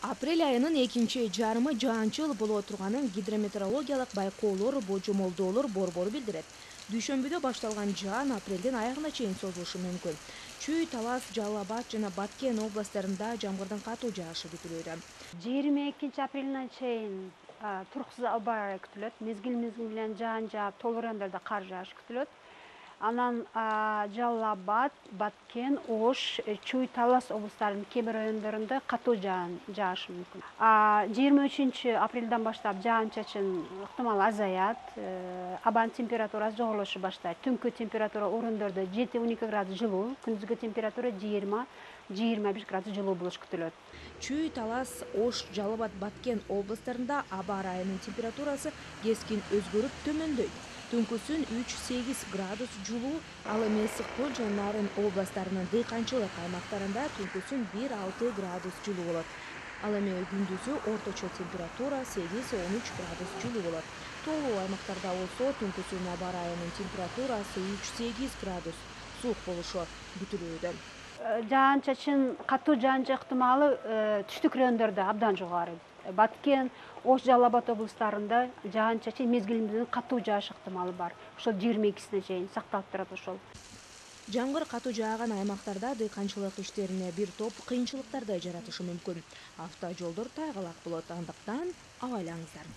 Апрель айынын экинчи жарымы жаанчыл боло турганын гидрометеорологиялык байкоолор божомолдоолор борбору билдирет. Дүйшөмбүдө башталган жаан апрелдин аягына чейин созулушу мүмкүн. Чүй, Талас, Жалал Абад жана Баткен областтарында жамгырдын катуу жаашы күтүлүүдө. 22 апрелине чейин туруксуз аба ырайы күтүлөт. Мезгил менен жаан жаап, толук райондордо кар жаашы күтүлөт. Анан Жалал Абад, Баткен, Ош, Чүй, Талас облустарынын кээ бир райондорунда катуу жаан жаашы мүмкүн. 23 апрелден баштап жаан-чачын ыктымал азаят, абанын температурасы жогорулаша баштайт. Түнкү температура орондордо 7-12 градус жылуу, күндүзгү температура 20-21 градус жылуу болуш күтүлөт. Чүй, Талас, Ош, Жалал Абад, Баткен областтарында аба ырайынын температурасы кескин өзгөрүп төмөндөйт. Түнкүсүн 3-8 градус жылуу, ал эми ысык көл жана Нарын областарынын дыйканчылык аймактарында түнкүсүн 1-6 градус жылуу болот. Ал эми күндүзү орточо температура 8-13 градус жылуу болот. Тоолуу аймактарда болсо түнкүсүн аба ырайынын температурасы 3-8 градус суук болушу күтүлүүдө. Жаан-чачын катуу жаан жаа ыктымалы түштүк райондордо абдан жогору. Баткен, Ош, Жалал Абад облустарында жаан-чачын мезгили менен катуу жааш ыктымалы бар. Ошол 22-сине чейин сакталып турат ошол. Жамгыр катуу жааган аймактарда дыйканчылык иштерине бир топ кыйынчылыктарды жаратышы мүмкүн. Автожолдор тайгалак болот, андыктан абайлаңыздар.